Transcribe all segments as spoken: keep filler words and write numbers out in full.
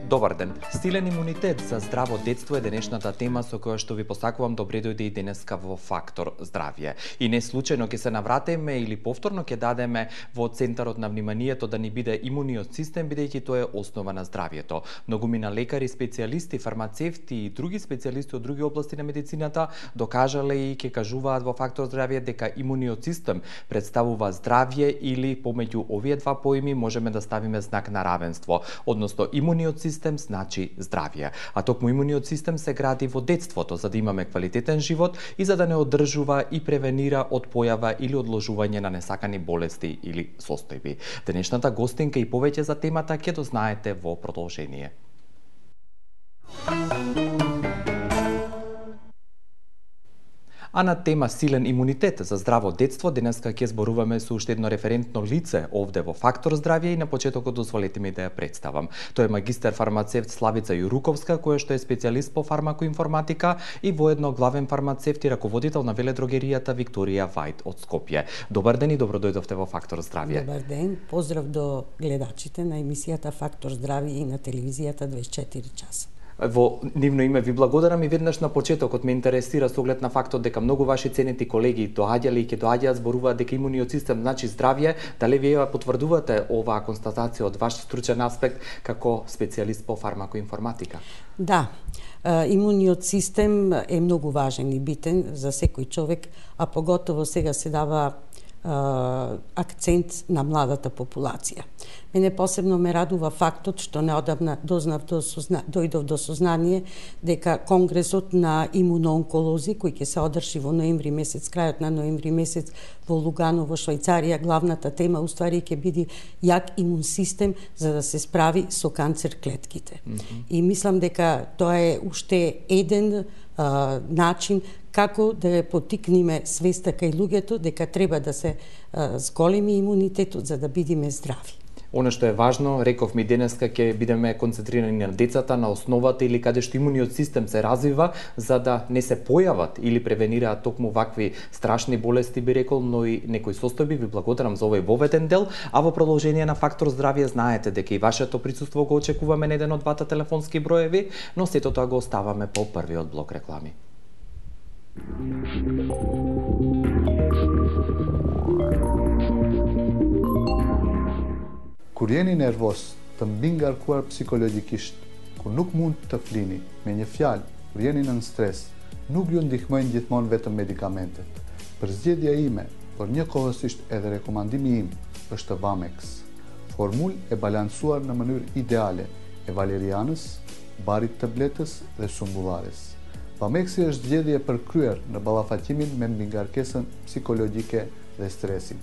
Добар ден. Силен имунитет за здраво детство е денешната тема со која што ви посакувам добре дојде и денеска во Фактор здравје. И не случајно ќе се навратиме или повторно ќе дадеме во центарот на вниманието да ни биде имуниот систем, бидејќи тоа е основа на здравјето. Многумина лекари, специјалисти, фармацевти и други специјалисти од други области на медицината докажале и ќе кажуваат во Фактор здравје дека имуниот систем представува здравје или помеѓу овие два поими можеме да ставиме знак на равенство, односно имуниот систем значи здравје. А токму имуниот систем се гради во детството за да имаме квалитетен живот и за да не одржува и превенира од појава или одложување на несакани болести или состојби. Денешната гостинка и повеќе за темата ќе дознаете во продолжение. А на тема силен имунитет за здраво детство, денеска ќе зборуваме со уште едно референтно лице овде во Фактор здравје и на почетокот дозволете ми да ја представам. Тој е магистер фармацевт Славица Јуруковска, која што е специјалист по фармакоинформатика и воедно главен фармацевт и раководител на веледрогеријата Викторија Вајд од Скопје. Добар ден и добро дојдовте во Фактор здравје. Добар ден, поздрав до гледачите на емисијата Фактор здравје и на телевизијата дваесет и четири часа. Во нивно име ви благодарам и веднаш на почетокот ме интересира со оглед на фактот дека многу ваши ценети колеги доаѓале и ќе доаѓаат зборуваат дека имуниот систем значи здравје. Дали вие потврдувате оваа констатација од ваш стручен аспект како специјалист по фармакоинформатика? Да, имуниот систем е многу важен и битен за секој човек, а поготово сега се дава акцент на младата популација. Мене посебно ме радува фактот што неодамна дознав до созна... дојдов до сознание дека Конгресот на имуноонколози кој ќе се одржи во ноември месец, крајот на ноември месец во Лугано во Швајцарија, главната тема уствари ќе биде јак имун систем за да се справи со канцер клетките. Mm-hmm. И мислам дека тоа е уште еден а, начин како да ја потикнеме свеста кај луѓето дека треба да се а, зголеми имунитетот за да бидеме здрави. Оно што е важно, реков ми денеска ќе бидеме концентрирани на децата, на основата или каде што имуниот систем се развива за да не се појават или превенираат токму вакви страшни болести, би рекол, но и некои состојби. Ви благодарам за овој воведен дел, а во продолжение на Фактор здравје знаете дека и вашето присуство го очекуваме на еден од двата телефонски броеви, но сето тоа го оставаме по првиот блок реклами. Kur jeni nervos, të mbi ngarkuar psikologjikisht, kur nuk mund të flini, me një fjalë, kur jeni nën stres, nuk ju ndihmojnë gjithmonë vetëm medikamentet. Përzgjedhja ime, por njëkohësisht edhe rekomandimi im, është Vamex. Formulë e balancuar në mënyrë ideale e valerianës, barit të bletës dhe sumbullarës. Vamexi është zgjedhje përkryer në ballafaqimimin me mbingarkesën psikologjike dhe stresin.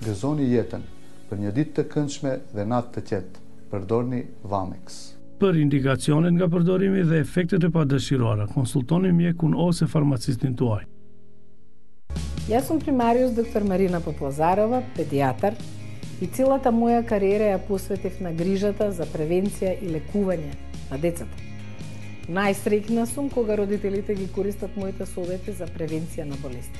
Gëzoni jetën për një ditë të këndshme dhe natë të qetë. Përdorni Vamex. Për indikacionet nga përdorimi dhe efektet e padëshiruara, konsultoni mjekun ose farmacistin tuaj. Јас сум примариус доктор Марина Поплазарова, педијатар, и целата моја кариера ја посветив на грижата за превенција и лекување на децата. Најсреќна сум кога родителите ги користат моите совети за превенција на болестите.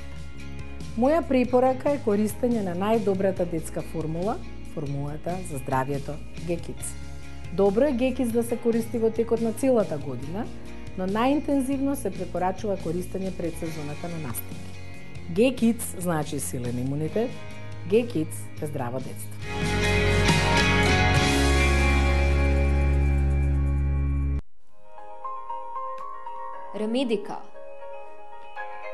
Моја препорака е користење на најдобрата детска формула, формулата за здравјето Г-Kids. Добро е Г-Kids да се користи во текот на целата година, но најинтензивно се препорачува користење пред сезоната на настинки. Г-Kids значи силен имунитет, Г-Kids е здраво детство. Ремедика,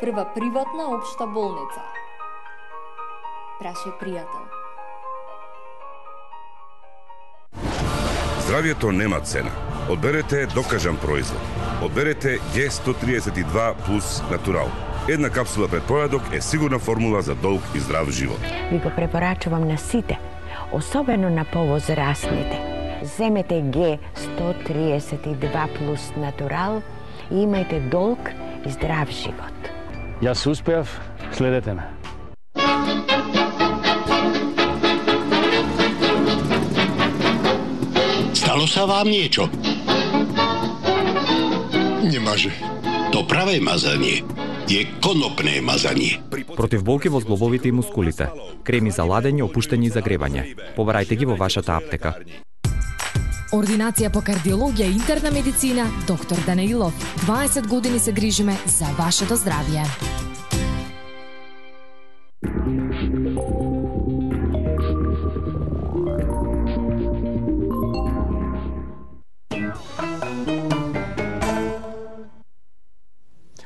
прва приватна општа болница. Праше пријател. Здравјето нема цена. Одберете докажан производ. Одберете Г сто триесет и два плюс Натурал. Една капсула пред појадок е сигурна формула за долг и здрав живот. Ви го препорачувам на сите, особено на повозрастните. Земете Г сто триесет и два плюс Натурал и имајте долг и здрав живот. Јас успеав, следете ме. Стало са вам niečo? Не може. То праве мазање е конопне мазање. Против болки во зглобовите и мускулите. Креми за ладење, опуштање и загревање. Побарајте ги во вашата аптека. Ординација по кардиологија и интерна медицина, доктор Данаилов. дваесет години се грижиме за вашето здравје.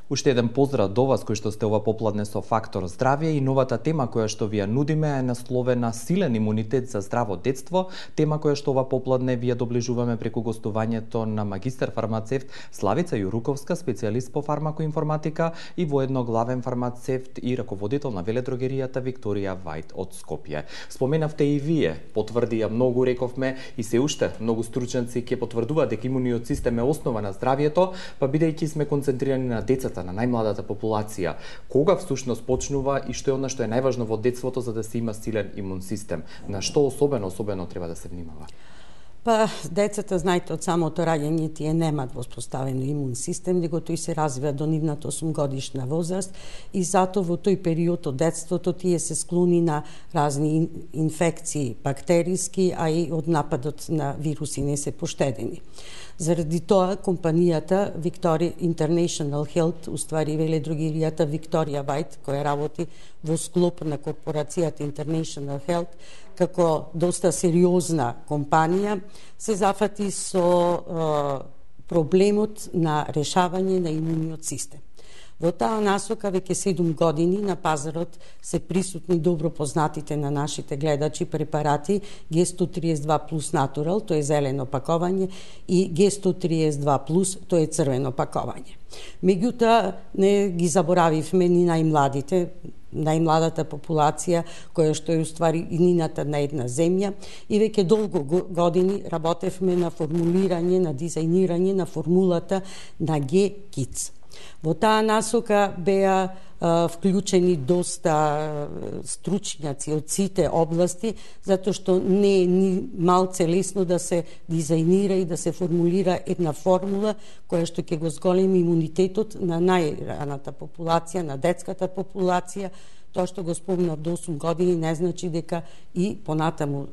Уште еден поздрав до вас кои што сте ова попладне со Фактор здравје и новата тема која што ви ја нудиме е насловена Силен имунитет за здраво детство, тема која што ова попладне ви ја доближуваме преку гостувањето на магистар фармацевт Славица Јуруковска, специјалист по фармакоинформатика и воедно главен фармацевт и раководител на веледрогеријата Викторија Вајт од Скопје. Споменавте и вие, потврди ја многу, рековме, и се уште многу стручњаци ќе потврдуваат дека имуниот систем е основа на здравјето, па бидејќи сме концентрирани на децата, на најмладата популација, кога всушност почнува и што е она што е најважно во детството за да се има силен имун систем? На што особено, особено треба да се внимава? Па, децата, знаете, од самото раѓање тие немаат воспоставено имун систем, него тој се развива до нивната осумгодишна возраст и затоа во тој период од детството тие се склони на разни инфекции бактериски, а и од нападот на вируси не се поштедени. Заради тоа, компанијата Victoria International Health, уствари веледрогеријата Викторија Вајт, која работи во склоп на корпорацијата International Health, како доста сериозна компанија, се зафати со е, проблемот на решавање на имуниот систем. Во таа насока веќе седум години на пазарот се присутни добро познатите на нашите гледачи препарати Г сто триесет два плюс Natural, тоа е зелено пакување, и Г сто триесет два плюс, тоа е црвено пакување. Меѓутоа, не ги заборавивме ни најмладите, најмладата популација, која што е уствари иднината на една земја, и веќе долго години работевме на формулирање, на дизајнирање на формулата на Г Kids. Во таа насока беа а, вклучени доста стручњаци од сите области, затоа што не е ни малце лесно да се дизајнира и да се формулира една формула која што ќе го зголеми имунитетот на најраната популација, на детската популација. Тоа што го спомнав до осум години не значи дека и понатаму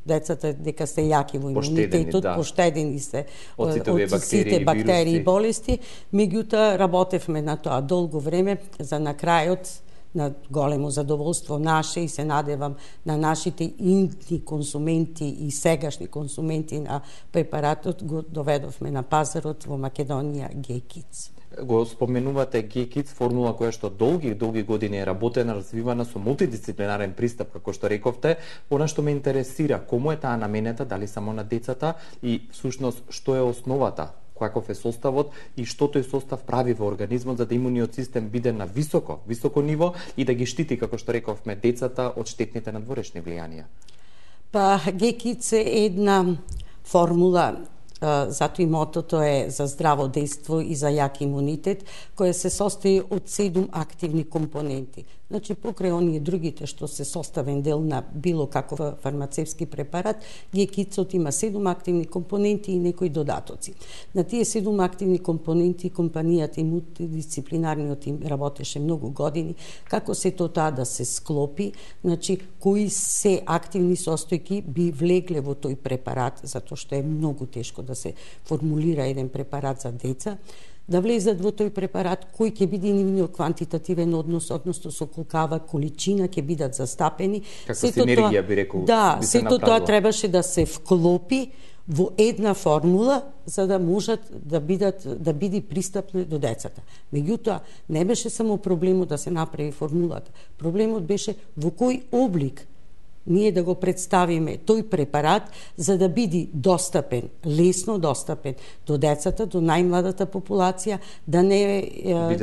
децата дека се јаки во имунитетот, да. Поштедени се од сите, од сите бактерии и болести. Меѓутоа работевме на тоа долго време за на крајот на големо задоволство наше и се надевам на нашите интни консументи и сегашни консументи на препаратот, го доведовме на пазарот во Македонија Г Kids. Го споменувате Г Kids, формула која што долги долги години е работена, развивана со мултидисциплинарен пристап, како што рековте. Она што ме интересира, кому е таа наменета, дали само на децата и всушност што е основата, каков е составот и што тој состав прави во организмот за да имуниот систем биде на високо, високо ниво и да ги штити, како што рековме, децата од штетните надворешни влијанија. Па Г Kids е една формула, затоа и мотото е за здраво дејство и за јак имунитет, која се состои од седум активни компоненти. Значи, покрај оние другите што се составен дел на било каков фармацевски препарат, Г Kids има седум активни компоненти и некои додатоци. На тие седум активни компоненти компанијата и мултидисциплинарниот тим работеше многу години, како се тоа таа да се склопи, значи, кои се активни состојки би влегле во тој препарат, затоа што е многу тешко да се формулира еден препарат за деца, да влезат во тој препарат, кој ќе биде нивниот квантитативен однос, односно со колкава количина ќе бидат застапени. Како синергија би рекол. Да, би се сето тоа требаше да се вклопи во една формула за да можат да бидат да биде пристапни до децата. Меѓутоа, не беше само проблемот да се направи формулата. Проблемот беше во кој облик ние да го представиме тој препарат за да биде достапен, лесно достапен до децата, до најмладата популација, да не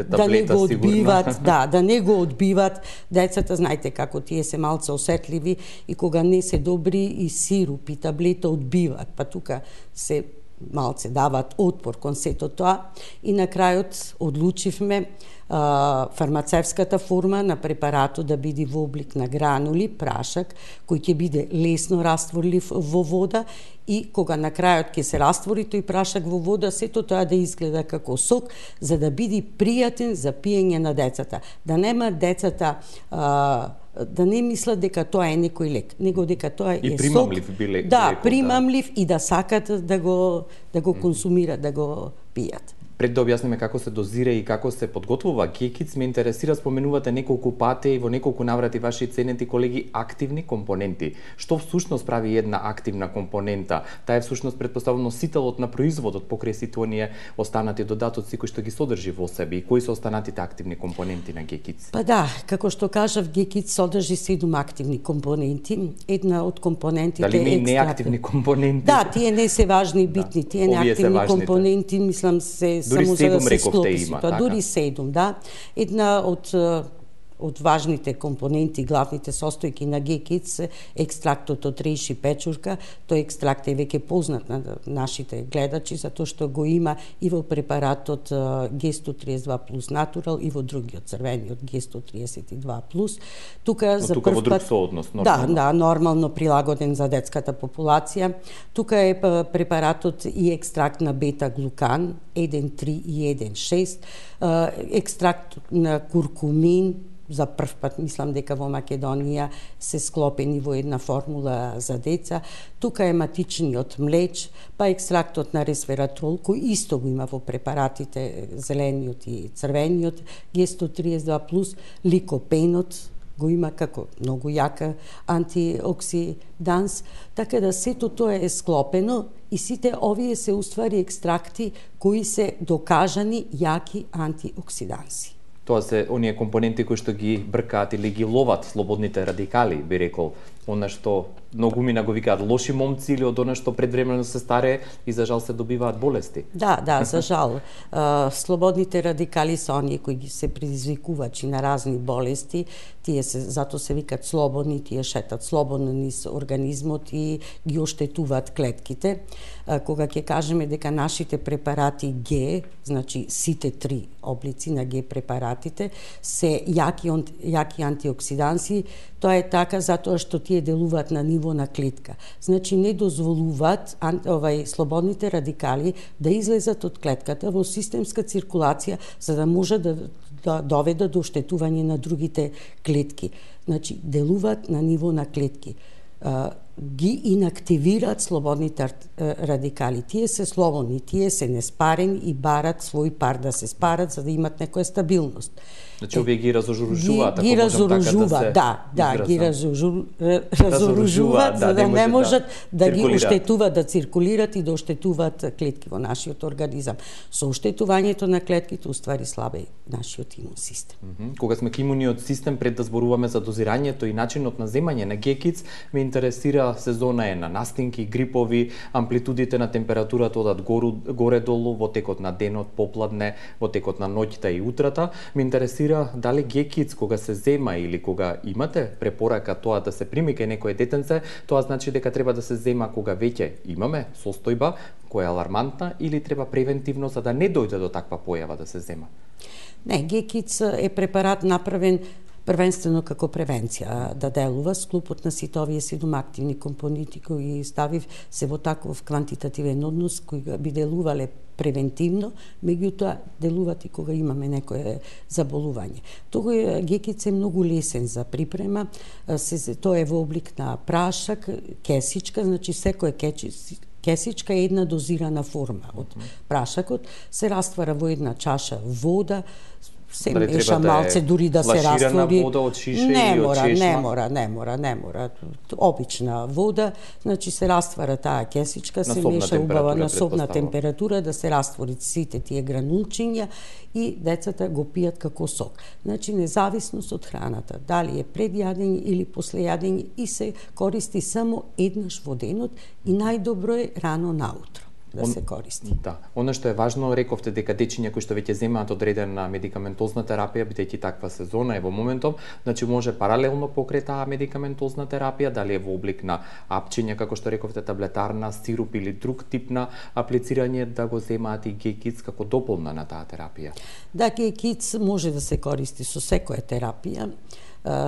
да не го одбиват, да, да не го одбиват децата, знаете како тие се малце осетливи и кога не се добри и сируп и таблета одбиват, па тука се малце дават отпор кон сето тоа и на крајот одлучивме а, фармацевската форма на препаратот да биде во облик на гранули, прашак, кој ќе биде лесно растворлив во вода и кога на крајот ќе се раствори тој прашак во вода, сето тоа да изгледа како сок, за да биде пријатен за пиење на децата. Да нема децата а, да не мислат дека тоа е некој лек, него дека тоа е и примамлив сок, биле. Да, лекот, примамлив да. И да сакат да го да го консумират, да го пијат. Пред да објасниме како се дозира и како се подготвува гекиц, ме интересира, споменувате неколку пати и во неколку наврати ваши ценети колеги активни компоненти. Што всушност прави една активна компонента? Таа е всушност претпоставено носителот на производот покрај сите оние останати додатоци кои што ги содржи во себе. И кои се останатите активни компоненти на гекиц? Па да, како што кажав, гекиц содржи седум активни компоненти. Една од компонентите Дали е има и неактивни компоненти? Да, тие не се важни и битни. Тие неактивни компоненти, мислам, се дури само седум, за да се рековте, склопи има, тоа. така? Дури седум, да. Една од од важните компоненти, главните состојки на гекиц е екстрактот од рејши печурка. Тој екстракт е веќе познат на нашите гледачи, затоа што го има и во препаратот Ге сто триесет и два плюс Натурал и во другиот црвениот Ге сто триесет и два плюс. Тука Но за тука прв во друг пат... сооднос, Да, нормално. да, нормално прилагоден за детската популација. Тука е препаратот и екстракт на бета-глукан еден три и еден шест, екстракт на куркумин. За прв пат мислам дека во Македонија се склопени во една формула за деца. Тука е матичниот млеч, па екстрактот на ресвератрол, кој исто го има во препаратите зелениот и црвениот, Ге сто триесет и два плюс, ликопенот го има како многу јака антиоксиданс, така да сето тоа е склопено и сите овие се уствари екстракти кои се докажани јаки антиоксиданси. Тоа се оние компоненти кои што ги бркаат или ги ловат слободните радикали, би рекол, она што многумина го викаат лоши момци или од она што предвремено се старее и за жал се добиваат болести. Да, да, за жал. Слободните радикали се оние кои ги се предизвикувачи на разни болести, тие се зато се викаат слободни, тие шетат слободно низ организмот и ги оштетуваат клетките. Кога ќе кажеме дека нашите препарати Г, значи сите три облици на Г препаратите се јаки, јаки антиоксиданси, тоа е така затоа што тие делуваат на ниво на клетка. Значи не дозволуваат овај слободните радикали да излезат од клетката во системска циркулација за да може да да доведат до оштетување на другите клетки. Значи делуваат на ниво на клетки. Ги инактивираат слободните радикали. Тие се слободни, тие се неспарени и барат свој пар да се спарат за да имат некоја стабилност. Значи овие ги разоружуваат, ако можам така да се да, да, ги разоружуваат за да не можат да ги оштетуваат, да циркулираат и да оштетуваат клетки во нашиот организам. Со оштетувањето на клетките уствари слабе нашиот имун систем. Кога сме ко имуниот систем, пред да зборуваме за дозирањето и начинот на земање на гекиц, ме интересира сезона е на настинки, грипови, амплитудите на температурата одат горе-долу во текот на денот, попладне, во текот на ноќта и утрата. Ме интересира дали гекиц кога се зема или кога имате препорака тоа да се прими кај некое детенце, тоа значи дека треба да се зема кога веќе имаме состојба која е алармантна или треба превентивно за да не дојде до таква појава да се зема? Не, гекиц е препарат направен првенствено како превенција да делува. Склопот на сите овие седум активни компоненти кои ставив се во таков квантитативен однос кои би делувале превентивно, меѓутоа делуваат и кога имаме некое заболување. Тој гекиц е многу лесен за припрема, се, тоа е во облик на прашак, кесичка, значи секоја кесичка е една дозирана форма од прашакот, се раствара во една чаша вода, се дали меша да малце дури да се раствори. Вода од шише не или од мора, чешма? не мора, не мора, не мора. Обична вода, значи се раствара таа кесичка, се меша убава на собна температура да се раствори сите тие гранулчиња и децата го пијат како сок. Значи независност од храната, дали е пред јадење или после јадење и се користи само еднаш во денот и најдобро е рано наутро да се користи. Да. Оно што е важно, рековте дека дечиња кои што веќе земаат одредена медикаментозна терапија, бидејќи таква сезона е во моментов, значи може паралелно покрај таа медикаментозна терапија, дали е во облик на апчиња, како што рековте, таблетарна, сируп или друг тип на аплицирање, да го земаат и гекиц како дополна на таа терапија. Да, гекиц може да се користи со секоја терапија.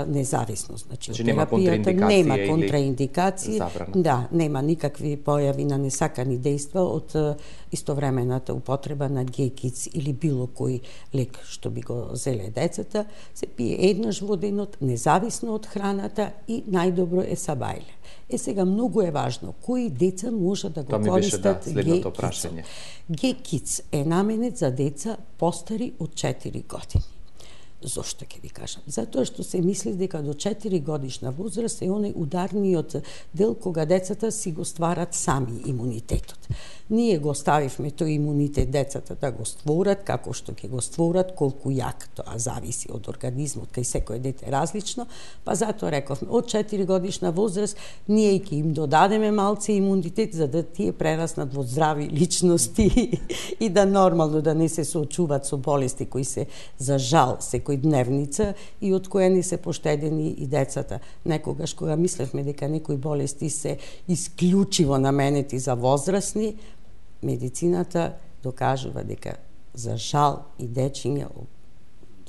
независно. Значи, значи нема терапијата нема контраиндикации, да, нема никакви појави на несакани дејства од истовремената употреба на гекиц или било кој лек што би го зеле децата, се пие еднаш во денот, независно од храната и најдобро е са бајле. Е сега многу е важно кои деца може да го користат да, гекиц. Гекиц е наменет за деца постари од четири години. Зошто ќе ви кажам? Затоа што се мисли дека до четири годишна возраст е оној ударниот дел кога децата си го стварат сами имунитетот. Ние го ставивме тој имунитет децата да го створат, како што ќе го створат, колку јак, тоа зависи од организмот, кај секој дете различно, па затоа рековме, од четири годишна возраст ние ќе им додадеме малце имунитет за да тие прераснат во здрави личности и да нормално да не се соочуваат со болести кои се за жал секој дневница и од која не се поштедени и децата. Некогаш кога мислевме дека некои болести се исклучиво наменети за возрастни, медицината докажува дека за жал и дечиња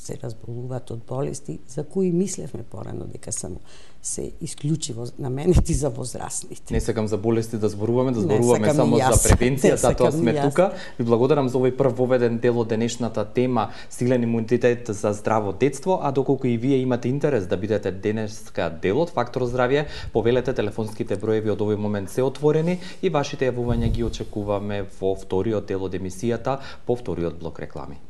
се разболуваат од болести за кои мислевме порано дека само се исклучиво наменети за возрастните. Не сакам за болести да зборуваме, да зборуваме само за превенција, затоа сме тука. Ви благодарам за овој прв воведен дел од денешната тема силен имунитет за здраво детство, а доколку и вие имате интерес да бидете денеска дел од Фактор здравје, повелете, телефонските броеви од овој момент се отворени и вашите јавувања ги очекуваме во вториот дел од емисијата, по вториот блок реклами.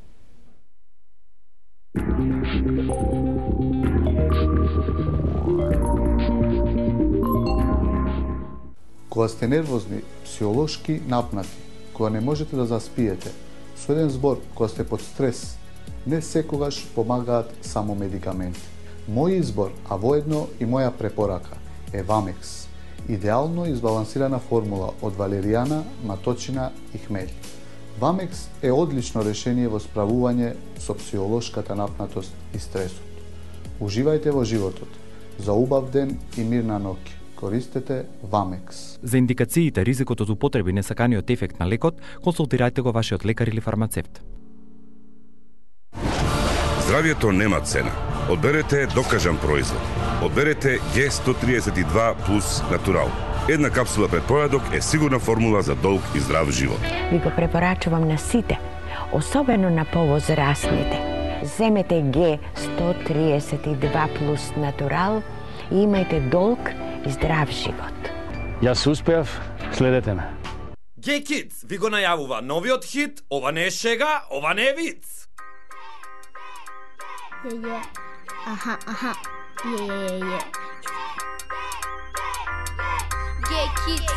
Кога сте нервозни, психолошки напнати, кога не можете да заспиете, со еден збор, кога сте под стрес, не секогаш помагаат само медикаменти. Мој избор, а воедно и моја препорака, е Вамекс, идеално избалансирана формула од валеријана, маточина и хмелј. Вамекс е одлично решение во справување со психолошката напнатост и стресот. Уживајте во животот. За убав ден и мирна ноќ. Користете Вамекс. За индикациите, ризикот од употреба и несаканиот ефект на лекот, консултирајте го вашиот лекар или фармацевт. Здравието нема цена. Одберете докажан производ. Одберете Г сто триесет и два плюс Натурал. Една капсула пред појадок е сигурна формула за долг и здрав живот. Ви го препорачувам на сите, особено на повозрастните. Земете Г сто триесет и два плюс Натурал и имајте долг и здрав живот. Јас успеав, следете ме. Г-Kids ви го најавува новиот хит, ова не е шега, ова не е виц. Е, е, аха, аха, е, е, е. Г-Kids.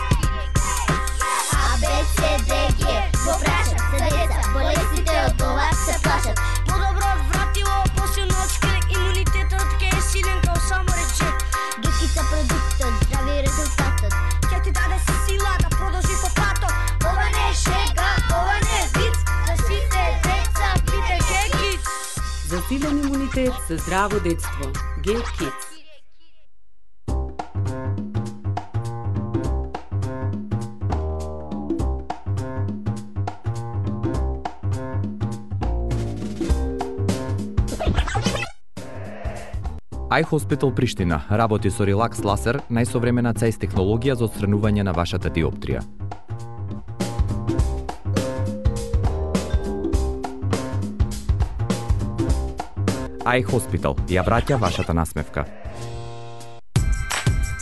А, Б, С, Д, Г, го прашат се деца, болестите од ова се плашат. Подобро вратило, после ночка, имунитетот ке е силен као само рече. Г-Kids продуктот, здрави резултатот, ќе ти даде сила да продолжи по патот. Ова не е шега, ова не е виц, за сите деца пите Г-Kids. За силен имунитет за здраво детство. Г-Kids. iHospital Приштина работи со релакс ласер, најсовремена цеј технологија за отстранување на вашата диоптрија. iHospital ја враќа вашата насмевка.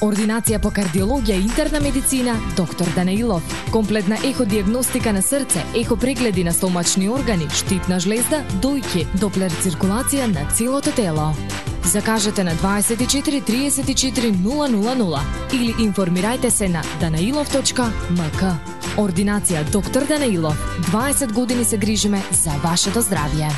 Ординација по кардиологија и интерна медицина, доктор Данаилов. Комплетна еходиагностика на срце, ехопрегледи на стомачни органи, штитна жлезда, дојки, доплер циркулација на целото тело. Закажете на дваесет и четири триесет и четири нула нула нула или информирајте се на данаилов точка ем ка. Ординација доктор Данаилов. дваесет години се грижиме за вашето здравје.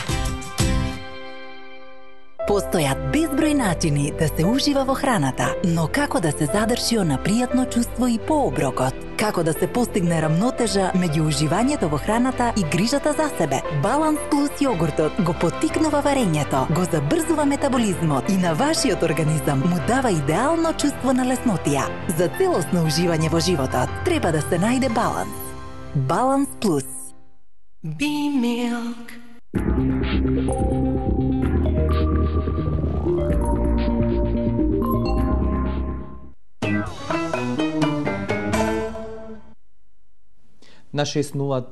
Постојат безброј начини да се ужива во храната, но како да се задржи она пријатно чувство и по оброкот? Како да се постигне рамнотежа меѓу уживањето во храната и грижата за себе? Баланс плюс јогуртот го поттикнува варењето, го забрзува метаболизмот и на вашиот организам му дава идеално чувство на леснотија. За целосно уживање во животот треба да се најде баланс. Баланс плюс. B-Milk. на шест нула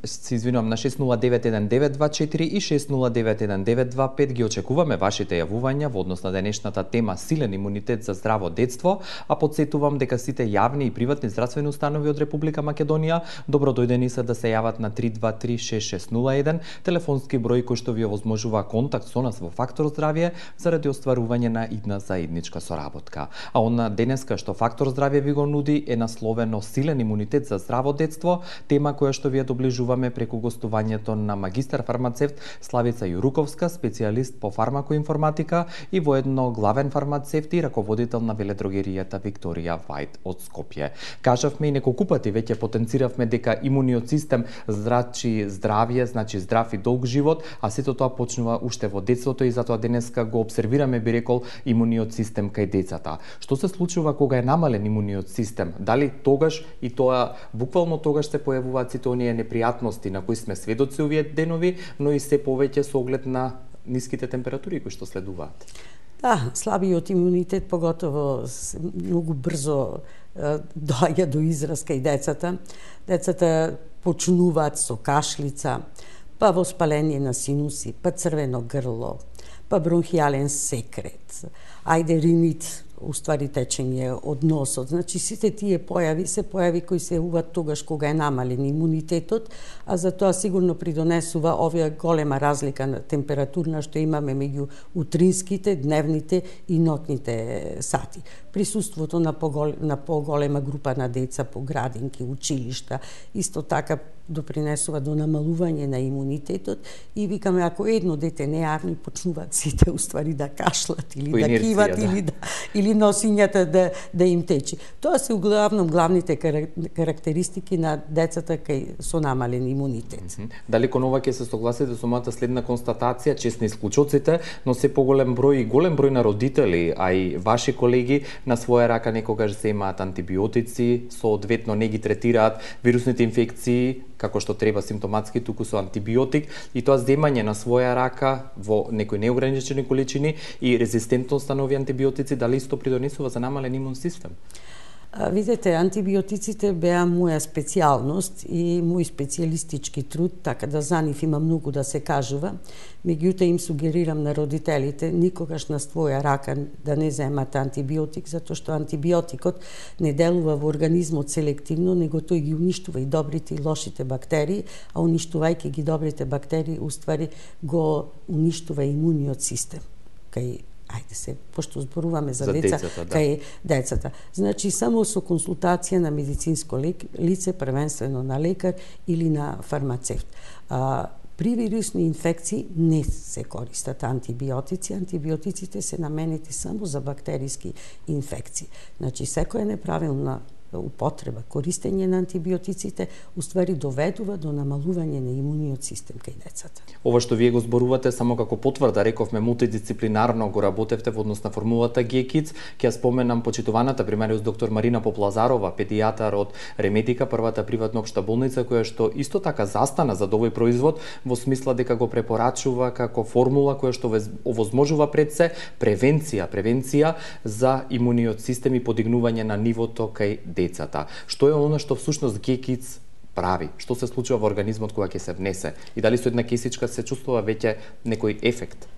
се извинувам на шест нула девет еден девет два четири и шест нула девет еден девет два пет ги очекуваме вашите јавувања во однос на денешната тема силен имунитет за здраво детство, а потсетувам дека сите јавни и приватни здравствени установи од Република Македонија добро дојдени се да се јават на три два три шест шест нула еден, телефонски број кој што ви овозможува контакт со нас во Фактор здравје заради остварување на идна заедничка соработка. А она денеска што Фактор здравје ви го нуди е насловено силен имунитет за здраво детство, тема која што ви ја доближуваме преку гостувањето на магистар фармацевт Славица Јуруковска, специјалист по фармакоинформатика и воедно главен фармацевт и раководител на веледрогеријата Викторија Вајд од Скопје. Кажавме и неколку пати веќе потенциравме дека имуниот систем значи здравје, значи здрав и долг живот, а сето тоа почнува уште во детството и затоа денеска го обсервираме, би рекол, имуниот систем кај децата. Што се случува кога е намален имуниот систем? Дали тогаш и тоа буквално тогаш се појавуваат сите оние непријатности на кои сме сведоци овие денови, но и се повеќе со оглед на ниските температури кои што следуваат? Да, слабиот имунитет поготово многу брзо доаѓа до израз кај децата. Децата почнуваат со кашлица, па воспаление на синуси, па црвено грло, па бронхијален секрет, ајде ринит, уствари течење од носот. Значи сите тие појави се појави кои се јавуваат тогаш кога е намален имунитетот, а за тоа сигурно придонесува оваа голема разлика на температурна што имаме меѓу утринските, дневните и ноќните сати. Присуството на, погол... на поголема група на деца по градинки, училишта, исто така допринесува до намалување на имунитетот и викаме ако едно дете не јавни почнуваат сите уствари да кашлат или да киват да. или да или носињата да да им течи. Тоа се главном главните карактеристики на децата кај со намален имунитет. Mm -hmm. Дали кон ова ќе се согласите со мојата следна констатација, честни исклучоците, но се поголем број и голем број на родители, а и ваши колеги на своја рака некогаш земаат антибиотици, соодветно не ги третираат вирусните инфекции како што треба симптоматски, туку со антибиотик, и тоа земање на своја рака во некои неограничени количини и резистентност на нови антибиотици, дали исто придонесува за намален имун систем? Видете, антибиотиците беа моја специјалност и мој специјалистички труд, така да за нив има многу да се кажува. Меѓутоа им сугерирам на родителите никогаш на своја рака да не земат антибиотик, затоа што антибиотикот не делува во организмот селективно, него тој ги уништува и добрите и лошите бактерии, а уништувајќи ги добрите бактерии, уствари го уништува имуниот систем. Кај ајде се, пошто зборуваме за, за деца, децата, да. Кај децата. Значи, само со консултација на медицинско лице, првенствено на лекар или на фармацевт. А, при вирусни инфекции не се користат антибиотици. Антибиотиците се наменети само за бактериски инфекции. Значи, секоја неправилна употреба, користење на антибиотиците, уствари доведува до намалување на имуниот систем кај децата. Ова што вие го зборувате само како потврда, рековме мултидисциплинарно го работевте во однос на формулата ГЕКИЦ. Ќе ја споменам почитуваната примериус доктор Марина Поплазарова, педијатар од Ремедика, првата приватна општа болница, која што исто така застана за овој производ во смисла дека го препорачува како формула која што овозможува пред се превенција, превенција за имуниот систем и подигнување на нивото кај децата. Што е оно што всушност ГЕКИЦ прави? Што се случува во организмот кога ќе се внесе? И дали со една кисичка се чувствува веќе некој ефект?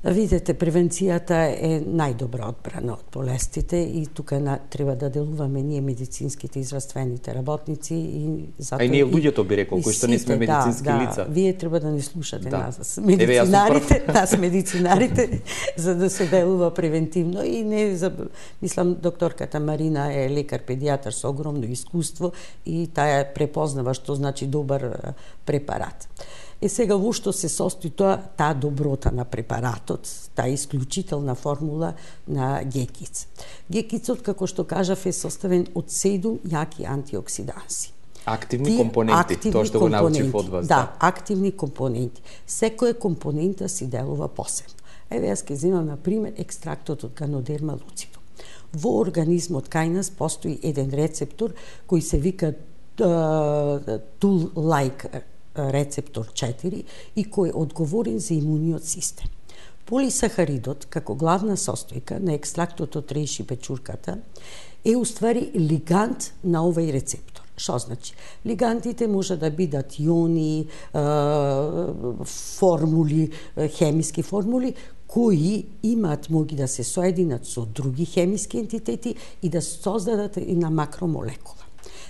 Видете, превенцијата е најдобра одбрана од болестите и тука на, треба да делуваме ние медицинските и здравствените работници и затоа. А и ние луѓето би рекол, кои што не сме медицински да, лица. Да, вие треба да не слушате да. нас, медицинарите, нас медицинарите, за да се делува превентивно и не за, мислам докторката Марина е лекар педијатар со огромно искуство и таа препознава што значи добар препарат. Е сега во што се состои тоа, таа доброта на препаратот, таа исклучителна формула на ГЕКИЦ. ГЕКИЦот, како што кажав, е составен од седум јаки антиоксиданси. Активни Ти, компоненти, активни тоа што компоненти, го научив од вас. Да, да, активни компоненти. Секоја компонента си делува посебно. Еве, јас ќе земам, на пример, екстрактот од Ганодерма луцидум. Во организмот кај нас постои еден рецептор кој се вика Tool-like рецептор четири и кој е одговорен за имуниот систем. Полисахаридот, како главна состојка на екстрактот од рејши печурката, е уствари лигант на овај рецептор. Што значи? Лигантите може да бидат иони, формули, хемиски формули, кои имаат моги да се соединат со други хемиски ентитети и да создадат една макромолекула.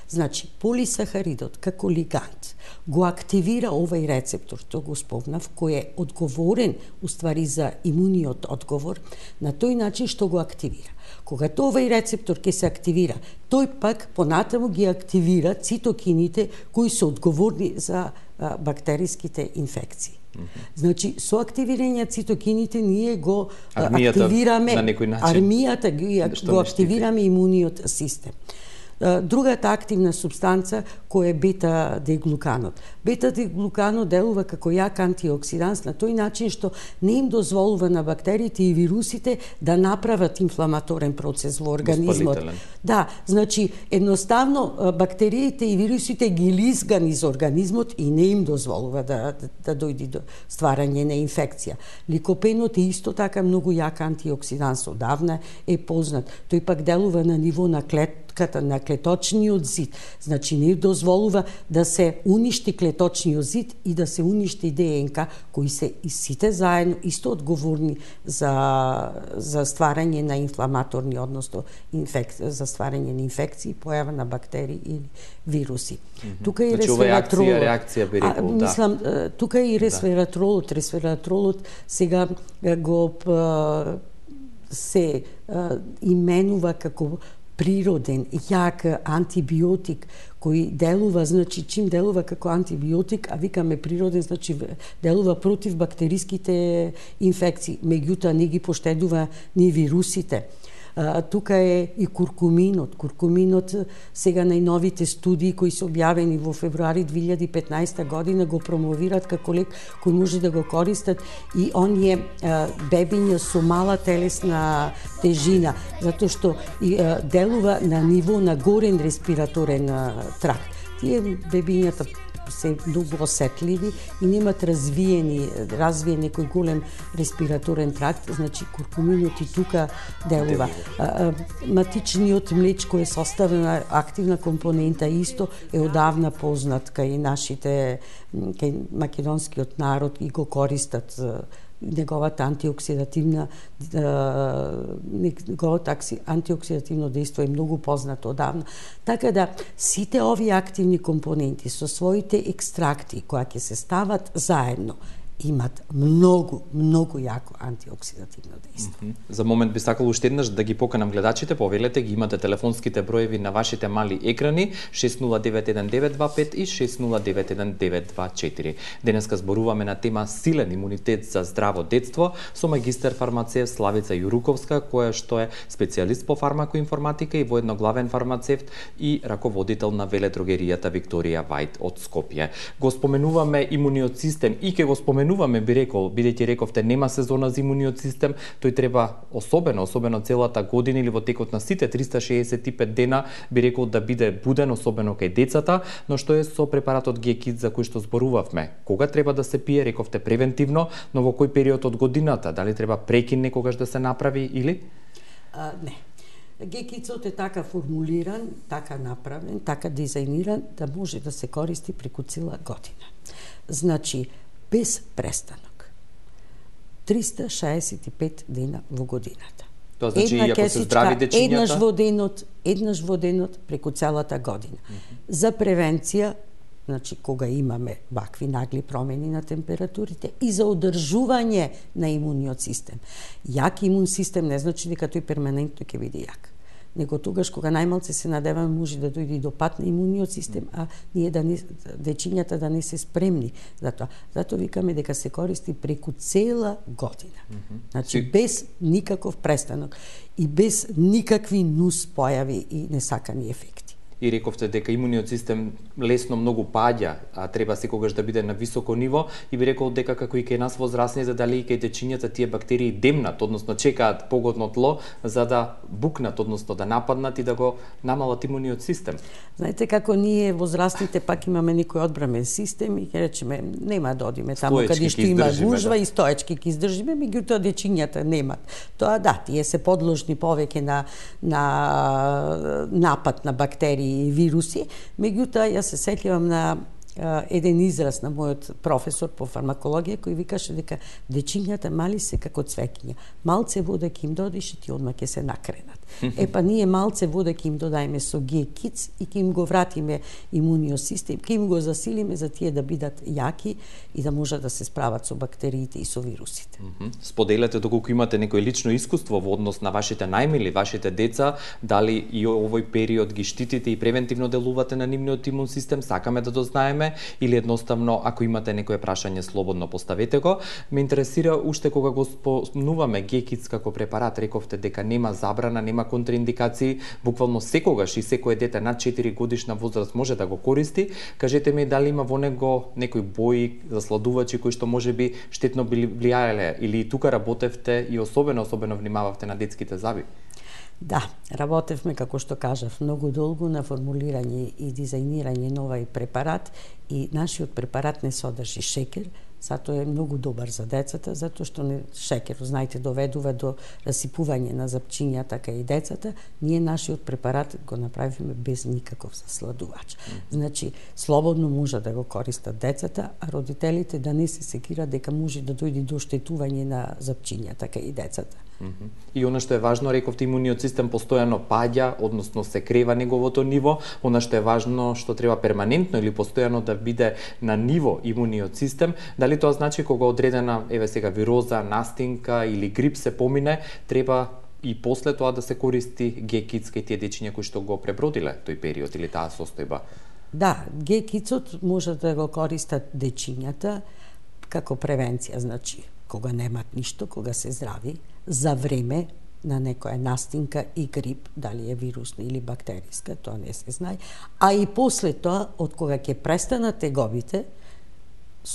Значи, полисахаридот како лигант го активира овај рецептор, тоа го спомнав, кој е одговорен уствари за имуниот одговор, на тој начин што го активира. Когато овај рецептор ќе се активира, тој пак понатаму ги активира цитокините кои се одговорни за а, бактериските инфекции. Mm-hmm. Значи, со активирање цитокините ние го армијата, активираме на некој начин, армијата ги, го активираме имуниот систем. Другата активна субстанца која е бета-деглуканот. Бета-деглуканот делува како јак антиоксиданс на тој начин што не им дозволува на бактериите и вирусите да направат инфламаторен процес во организмот. Да, значи едноставно бактериите и вирусите ги лизга низ организмот и не им дозволува да, да, да дојде до стварање на инфекција. Ликопенот е исто така многу јак антиоксиданс, одавна е познат. Тој пак делува на ниво на клетката, на клеточниот зид. Значи не дозволува да се уништи клеточниот зид и да се уништи ДНК, кои се и сите заедно исто одговорни за за стварање на инфламаторни, односно инфек... за стварање на инфекции, појава на бактерии или вируси. Mm-hmm. Тука и значи, ресвератролот. Реакција, реакција би рекол, а, мислам, да. Тука и ресвератролот, да. Ресвератролот сега го се именува како природен, јак антибиотик кој делува, значи чим делува како антибиотик, а викаме природен, значи делува против бактериските инфекции, меѓутоа не ги поштедува ни вирусите. А, тука е и куркуминот. Куркуминот сега најновите студии кои се објавени во февруари две илјади и петнаесета година го промовираат како лек кој може да го користат и оние а, бебиња со мала телесна тежина, затоа што и, а, делува на ниво на горен респираторен а, тракт. Тие бебињата се многу осетливи и немат развиени, развиен некој голем респираторен тракт, значи куркуминот и тука делува. А, а, матичниот млеч кој е составена активна компонента исто е одавна познат кај нашите, кај македонскиот народ и го користат неговата антиоксидативна неговата антиоксидативно дејство е многу познато одавна. Така да сите овие активни компоненти со своите екстракти кои ќе се стават заедно имат многу, многу јако антиоксидативно дејство. Mm-hmm. За момент би сакал уште еднаш да ги поканам гледачите, повелете ги, имате телефонските броеви на вашите мали екрани шест нула девет еден девет два пет и шест нула девет еден девет два четири. Денеска зборуваме на тема силен имунитет за здраво детство со магистер фармацевт Славица Јуруковска, која што е специјалист по фармакоинформатика и воедно главен фармацевт и раководител на веледрогеријата Викторија Вајд од Скопје. Го споменуваме имуниот систем и ќе го споменуваме би рекол, бидејќи рековте нема сезона за имуниот систем, тој треба особено, особено целата година или во текот на сите триста шеесет и пет дена, би рекол да биде буден, особено кај децата, но што е со препаратот Г-Кит за кој што зборувавме? Кога треба да се пие, рековте превентивно, но во кој период од годината? Дали треба прекин некогаш да се направи или? А, не. Г-Китот е така формулиран, така направен, така дизајниран да може да се користи преку цела година. Значи, без престанок. триста шеесет и пет дена во годината. Тоа значи и ако се здрави дечињата? Еднаш во денот, еднаш во денот преку целата година. Mm-hmm. За превенција, значи кога имаме вакви нагли промени на температурите и за одржување на имуниот систем. Јак имун систем не значи дека тој перманентно ќе биде јак, него тогаш кога најмалце се надеваме може да дојде до пат на имуниот систем, а ние да не, дечињата да не се спремни за тоа. Затоа викаме дека се користи преку цела година. Mm-hmm. Значи без никаков престанок и без никакви нус појави и несакани ефекти. И рековте дека имуниот систем лесно многу паѓа, а треба секогаш да биде на високо ниво, и би рекол дека како и кај нас возрастните, дали и кај дечињата тие бактерии демнат, односно чекаат погодно тло за да букнат, односно да нападнат и да го намалат имуниот систем. Знаете како ние возрастните пак имаме некој одбрамен систем и ќе речеме нема да одиме таму каде што има гужва, да, и стоечки ќе издржиме, меѓутоа дечињата немат. Тоа да, тие се подложни повеќе на на напад на бактерии и вируси, меѓутоа ја се сеќавам на еден израз на мојот професор по фармакологија кој викаше дека дечињата мали се како цвеќиња. Малце вода ќе им додиш и ти одма ќе се накренат. Е па ние малце вода ќе им додајме со Г-Kids и ќе им го вратиме имуниот систем, ќе им го засилиме за тие да бидат јаки и да можат да се справат со бактериите и со вирусите. Споделете доколку имате некој лично искуство во однос на вашите најмили, вашите деца, дали и овој период ги штитите и превентивно делувате на нивниот имун систем, сакаме да дознаеме, или едноставно ако имате некое прашање слободно поставете го. Ме интересира уште кога го спомнуваме Г-Kids како препарат, рековте дека нема забрана, нема контраиндикации, буквално секогаш и секое дете над четири годишна возраст може да го користи. Кажете ми дали има во него некои бои, засладувачи кои што можеби штетно били влијаеле или и тука работевте и особено особено внимававте на детските заби? Да, работевме, како што кажав, многу долго на формулирање и дизајнирање на овај препарат и нашиот препарат не содржи шекер, затоа е многу добар за децата, затоа што не шекер, знаете, доведува до расипување на запчињата кај децата. Ние нашиот препарат го направивме без никаков засладувач. Значи, слободно може да го користат децата, а родителите да не се секираат дека може да дојде до оштетување на запчињата кај децата. И она што е важно, рековте, имуниот систем постојано паѓа, односно се крева неговото ниво. Она што е важно, што треба перманентно или постојано да биде на ниво имуниот систем. Дали тоа значи кога одредена, еве сега, вироза, настинка или грип се помине, треба и после тоа да се користи Г-Kids кај тие дечиња кои што го пребродиле тој период или таа состојба? Да, Г-Kids може да го користат дечињата како превенција, значи кога немат ништо, кога се здрави, за време на некоја настинка и грип, дали е вирусна или бактериска, тоа не се знае, а и после тоа, од кога ќе престанат тегобите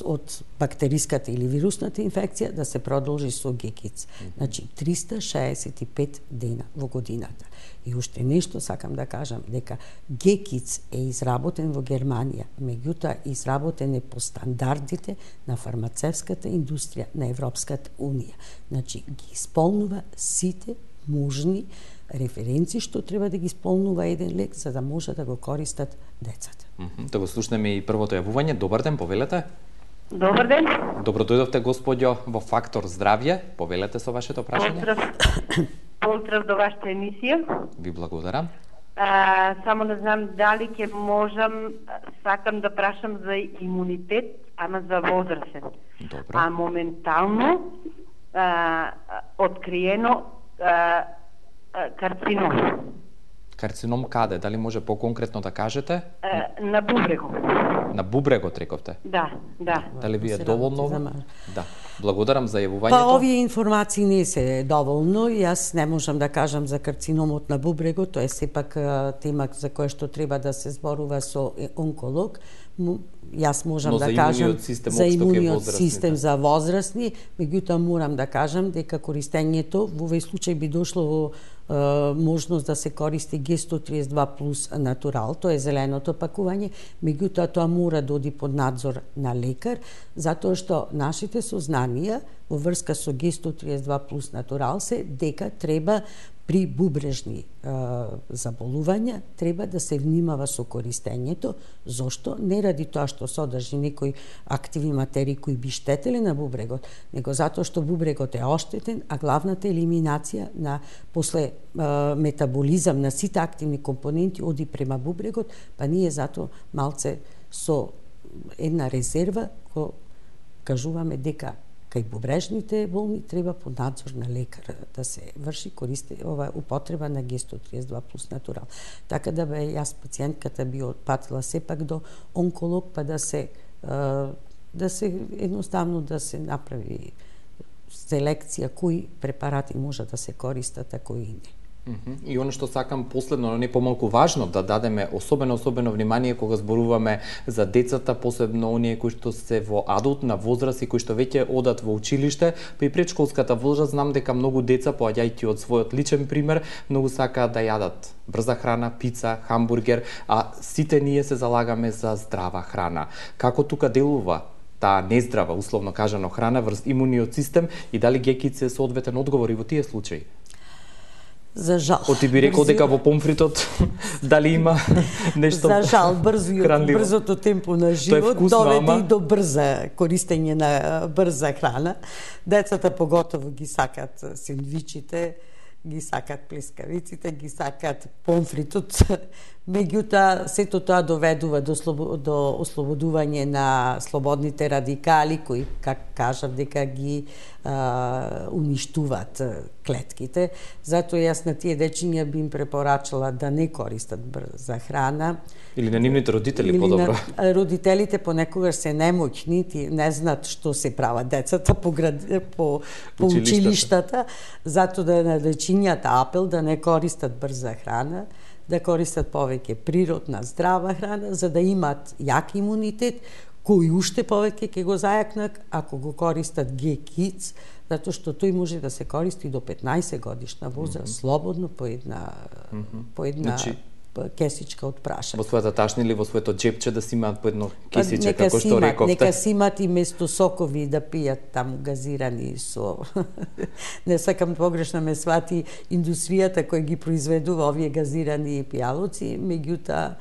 од бактериската или вирусната инфекција, да се продолжи со Г-Kids. Значи, триста шеесет и пет дена во годината. И уште нешто сакам да кажам, дека Г-Kids е изработен во Германија, меѓутоа изработен е по стандардите на фармацевската индустрија на Европската Унија. Значи, ги исполнува сите можни референци што треба да ги исполнува еден лек за да може да го користат децата. Да го слушнеме и првото јавување. Добар ден, повелете. Добар ден. Добро дојдовте, господјо, во Фактор здравје. Повелете со вашето прашање. Поздрав. Поздрав до вашата емисија. Ви благодарам. А, само не знам дали ќе можам, сакам да прашам за имунитет, ама за возрастен. Добро. А моментално а, откриено а, а, карцином. Карцином каде? Дали може по-конкретно да кажете? А, на бубрегот. На бубрегот, рековте? Да, да. Дали ви е доволно? Да. Благодарам за јавувањето. Па овие информации не се доволно. Јас не можам да кажам за карциномот на бубрегот, тоа е сепак тема за која што треба да се зборува со онколог. Јас можам Но да за кажам систем, за имуниот да. систем за возрастни, меѓутоа морам да кажам дека користењето во овој случај би дошло во е, можност да се користи Г сто триесет и два плюс натурал, тоа е зеленото пакување, меѓутоа тоа мора да оди под надзор на лекар, затоа што нашите сознанија во врска со Г сто триесет и два плюс натурал се дека треба при бубрежни е, заболувања треба да се внимава со користењето. Зошто? Не ради тоа што содржи некои активни материи кои би штетеле на бубрегот, него затоа што бубрегот е оштетен, а главната елиминација на после е, метаболизам на сите активни компоненти оди према бубрегот, па ние затоа малце со една резерва ко кажуваме дека кај бубрежните болни треба под надзор на лекар да се врши користи ова употреба на Г сто триесет и два плюс натурал. Така да бе јас пациентката би отпатила сепак до онколог па да се да се едноставно да се направи селекција кои препарати може да се користат, а кои не. И оно што сакам последно, но не помалку важно, да дадеме особено особено внимание кога зборуваме за децата, посебно оние кои што се во адултна возраст и кои што веќе одат во училиште, при предшколската возраст знам дека многу деца, поаѓајќи од својот личен пример, многу сакаат да јадат брза храна, пица, хамбургер, а сите ние се залагаме за здрава храна. Како тука делува таа нездрава, условно кажано, храна врз имуниот систем и дали Г-Kids е соодветен одговор и во тие случаи? За жал. Оти би рекол дека во помфритот дали има нешто За жал, брзо и хранливо. брзото темпо на живот вкусно, доведе ама... и до брза користење на брза храна. Децата поготово ги сакат сендвичите, ги сакат плескавиците, ги сакат помфритот. Меѓутоа, сето тоа доведува до, слобо, до ослободување на слободните радикали, кои, как кажав, дека ги а, уништуваат клетките. Затоа јас на тие дечиња би им препорачала да не користат брза храна. Или на нивните родители Или подобро. На родителите понекогаш се немоќни, ти не знаат што се прават децата по, град, по, по Училиштата. училиштата, затоа да на дечињата апел да не користат брза храна, да користат повеќе природна, здрава храна, за да имаат јак имунитет, кој уште повеќе ќе го зајакнат ако го користат Г-Kids, затоа што тој може да се користи до петнаесет годишна возраст, mm -hmm. слободно по една, mm -hmm. по една значи, кесичка од прашање. Во својата ташна или во своето џепче да си имаат по едно кесиче, нека како што имат, рековте. Нека си имат и место сокови да пијат таму газирани со... Не сакам погрешно ме свати индустријата која ги произведува овие газирани пијалоци, меѓутоа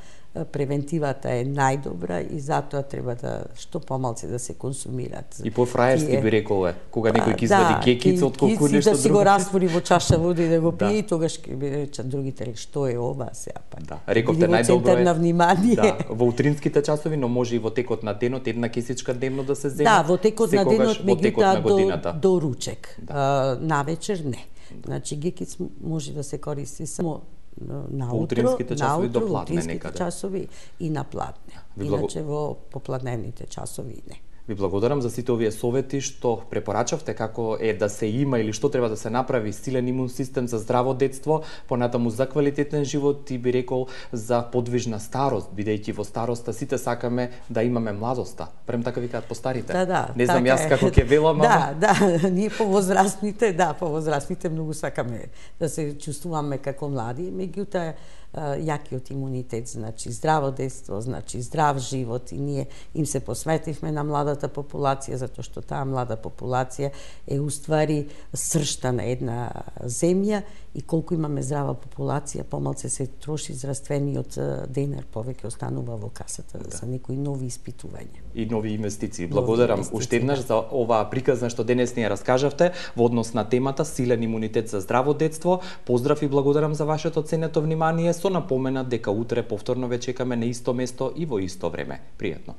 превентивата е најдобра и затоа треба да што помалце да се консумираат. И по-фраерски тие... би рекол е, кога некој ќе извади да, кекица од колку нешто да си друго. го раствори во чаша вода и да го пие, да. И тогаш ќе би речат другите што е ова сега па. Да, рековте најдобро е. На внимание. Да, во утринските часови, но може и во текот на денот една кесичка дневно да се земе. Да, во текот на денот, меѓутоа до, до ручек. Да. А, навечер не. Значи Г-Kids може да се користи само наутро, утринските часови наутро, до пладне некаде. часови и на пладне. Иначе во попладневните часови не. Ви благодарам за сите овие совети што препорачавте како е да се има или што треба да се направи силен имун систем за здраво детство, понатаму за квалитетен живот и би рекол за подвижна старост, бидејќи во староста сите сакаме да имаме младоста. Прем така викаат постарите. Да, да. Не знам така јас како ќе велам, да, да, ние повозрастните, да, повозрастните многу сакаме да се чувствуваме како млади, меѓутоа јакиот имунитет, значи здраво детство, значи здрав живот и ние им се посветивме на младата популација, затоа што таа млада популација е уствари сршта на една земја и колку имаме здрава популација, помалце се троши здравствениот денар, повеќе останува во касата да. За некои нови испитувања. И нови инвестиции. Благодарам нови уште еднаш за оваа приказна што денес ни ја раскажавте во однос на темата силен имунитет за здраво детство. Поздрав и благодарам за вашето ценето внимание. Со напомена дека утре повторно ве чекаме на исто место и во исто време. Пријатно.